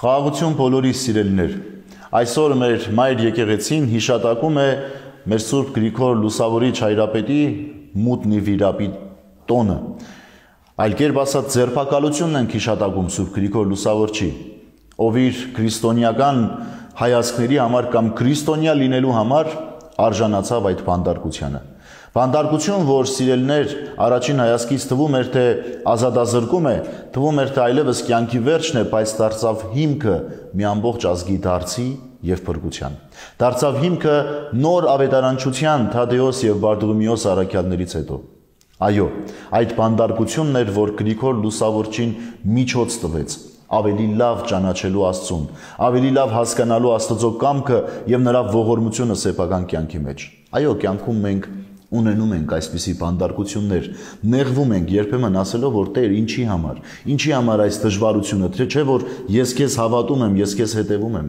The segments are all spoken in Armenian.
Խաղաղություն բոլորիս սիրելիներ, այսօր մեր մայր եկեղեցին հիշատակում է մեր Սուրբ Գրիգոր Լուսավորիչ հայրապետի մութ նիվիրապի տոնը, այլ կերպ ասած ձերբակալությունն ենք հիշատակում Սուրբ Գրիգոր Լուսավորչի, ով իր քրիստոնեական հայացքների համար կամ քրիստոնյա լինելու համար արժանացավ այդ բանդարկությանը։ Բանդարկություն, որ սիրելիներ առաջին հայացքից թվում էր, թե ազատազրկում է, թվում էր, թե այլևս կյանքի վերջն է, բայց դարձավ հիմքը մի ամբողջ ազգի դարձի և փրկության։ Դարձավ հիմքը նոր ավետարանչության Թադեոս և Բարդուղիմեոս առաքյալներից հետո։ Այո, այդ բանդարկությունն էր, որ Գրիգոր Լուսավորչին միջոց տվեց ավելի լավ ճանաչելու Աստծուն, ավելի լավ հասկանալու Աստծո կամքը և նրա ողորմությունը սեփական կյանքի մեջ։ Այո, կյանքում մենք ունենում ենք այսպիսի բանդարկություններ, նեղվում ենք երբեմն ասելով, որ Տեր ինչի համար այս դժվարությունը, չէ որ ես քեզ հավատում եմ, ես քեզ հետևում եմ։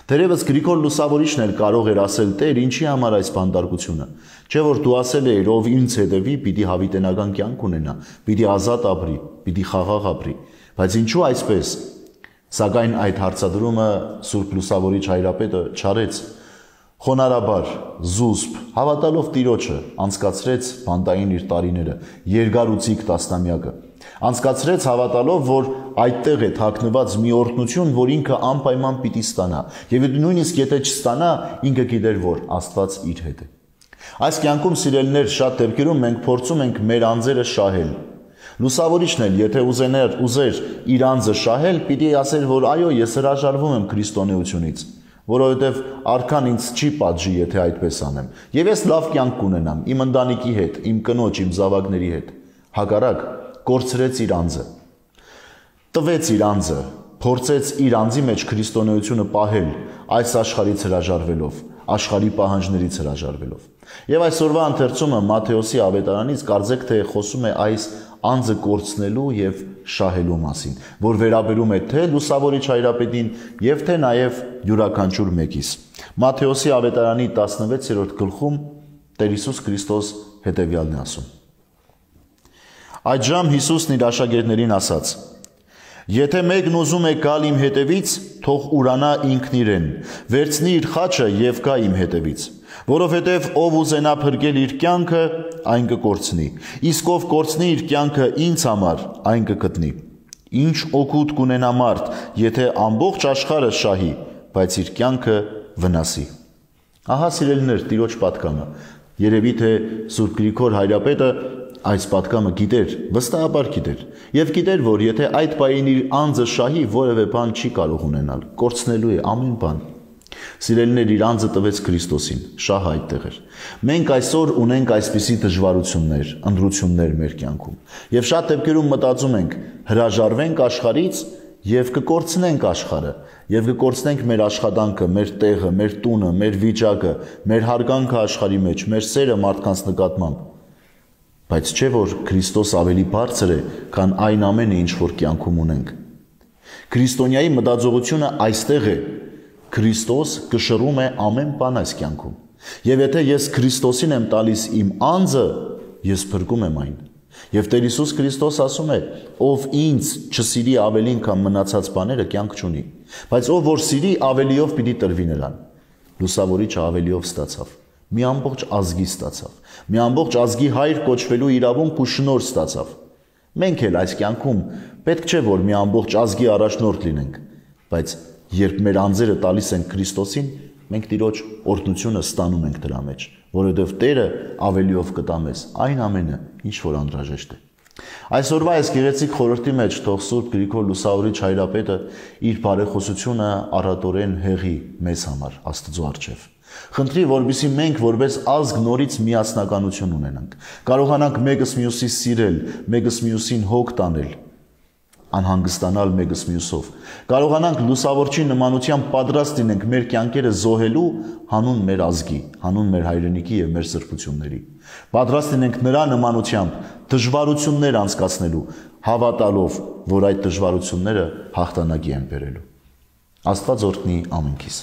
Թերևս Գրիգոր Լուսավորիչն էլ կարող էր ասել, Տեր ինչի համար այս բանդարկությունը, չէ որ դու ասել էիր, ով ինձ հետևի, պիտի հավիտենական կյանք ունենա, պիտի ազատ ապրի, պիտի խաղաղ ապրի, բայց ինչու այսպես։ Սակայն այդ հարցադրումը Սուրբ Լուսավորիչ հայրապետը չարեց, խոնարհաբար, զուսպ, հավատալով Տիրոջը, անցկացրեց բանտային իր տարիները, երկարուցիկ տասնամյակը, անցկացրեց հավատալով, որ այդտեղ է թաքնված մի օրհնություն, որ ինքը անպայման պիտի ստանա, և նույնիսկ եթե չստանա, ինքը գիտեր, որ Աստված իր հետ է։ Այս կյանքում սիրելիներ շատ դեպքերում մենք փորձում ենք մեր անձերը շահել։ Լուսավորիչն էլ, եթե ուզեր իր անձը շահել, պիտի ասեր, որ այո, ես հրաժարվում եմ քրիստոնեությունից, որովհետև արքան ինձ չի պատժի, եթե այդպես անեմ, և ես լավ կյանք կունենամ իմ ընտանիքի հետ, իմ կնոջ, իմ զավակների հետ։ Հակառակ, կորցրեց իր անձը, տվեց իր անձը, փորձեց իր անձի մեջ քրիստոնեությունը պահել այս աշխարհից հրաժարվելով, աշխարհի պահանջներից հրաժարվելով։ Եվ այսօրվա ընթերցումը Մատթեոսի ավետարանից կարծեք թե խոսում է այս անձը կորցնելու և շահելու մասին, որ վերաբերում է թե Լուսավորիչ հայրապետին և թե նաև յուրաքանչյուր մեկիս։ Մատթեոսի ավետարանի 16-րդ գլխում Տեր Հիսուս Քրիստոս հետևյալն է ասում. Այդժամ Հիսուսն իր աշակերտներին ասաց. Եթե մեկն ուզում է գալ իմ հետևից, թող ուրանա ինքն իրեն, վերցնի իր խաչը և գա իմ հետևից, որովհետև ով ուզենա փրկել իր կյանքը, այն կկորցնի, իսկ ով կորցնի իր կյանքը ինձ համար, այն կգտնի։ Ինչ օգուտ կունենա մարդ, եթե ամբողջ աշխարհը շահի, բայց իր կյանքը վնասի։ Ահա սիրելիներ, Տիրոջ պատգամը։ Երևի թե Սուրբ Գրիգոր հայրապետը այս պատգամը գիտեր, վստահաբար գիտեր, և գիտեր, որ եթե այդ պահին իր անձը շահի, որևէ բան չի կարող ունենալ, կորցնելու է ամեն բան։ Սիրելիներ, իր անձը տվեց Քրիստոսին, շահը այդտեղ էր։ Մենք այսօր ունենք այսպիսի դժվարություններ, ընտրություններ մեր կյանքում, և շատ դեպքերում մտածում ենք, հրաժարվենք աշխարհից և կկորցնենք աշխարհը, և կկորցնենք մեր աշխատանքը, մեր տեղը, մեր տունը, մեր վիճակը, մեր հարգանքը աշխարհի մեջ, մեր սերը մարդկանց նկատմամբ։ Բայց չէ որ Քրիստոս ավելի բարձր է, քան այն ամենը, ինչ որ կյանքում ունենք։ Քրիստոնյայի մտածողությունը այստեղ է։ Քրիստոս կշռում է ամեն բան այս կյանքում։ Եվ եթե ես Քրիստոսին եմ տալիս իմ անձը, ես փրկում եմ այն։ Եվ Տեր Հիսուս Քրիստոս ասում է, ով ինձ չսիրի ավելին, քան մնացած բաները, կյանք չունի։ Բայց ով որ սիրի, ավելիով պիտի տրվի նրան։ Լուսավորիչը ավելիով ստացավ։ Մի ամբողջ ազգի ստացավ, մի ամբողջ ազգի հայր կոչվելու իրավունք ու շնորհ ստացավ։ Մենք էլ այս կյանքում պետք չէ, որ մի ամբողջ ազգի առաջնորդ լինենք, բայց երբ մեր անձերը տալիս ենք Քրիստոսին, մենք Տիրոջ օրհնությունը ստանում ենք դրա մեջ, որովհետև Տերը ավելիով կտա մեզ այն ամենը, ինչ որ անհրաժեշտ է։ Այսօրվա այս գեղեցիկ խորհրդի մեջ թող Սուրբ Գրիգոր Լուսավորիչ հայրապետը իր բարեխոսությունը առատորեն հեղի մեզ համար Աստծո առջև։ Խնդրի, որպեսզի մենք որպես ազգ նորից միասնականություն ունենանք, կարողանանք մեկս մյուսի սիրել, մեկս մյուսին հոգ տանել, անհանգստանալ մեկս մյուսով, կարողանանք Լուսավորչի նմանությամբ պատրաստ լինենք մեր կյանքերը զոհելու հանուն մեր ազգի, հանուն մեր հայրենիքի և մեր սրբությունների, պատրաստ լինենք նրա նմանությամբ դժվարություններ անցկացնելու, հավատալով, որ այդ դժվարությունները հաղթանակի են բերելու։ Աստված օրհնի ամենքիս։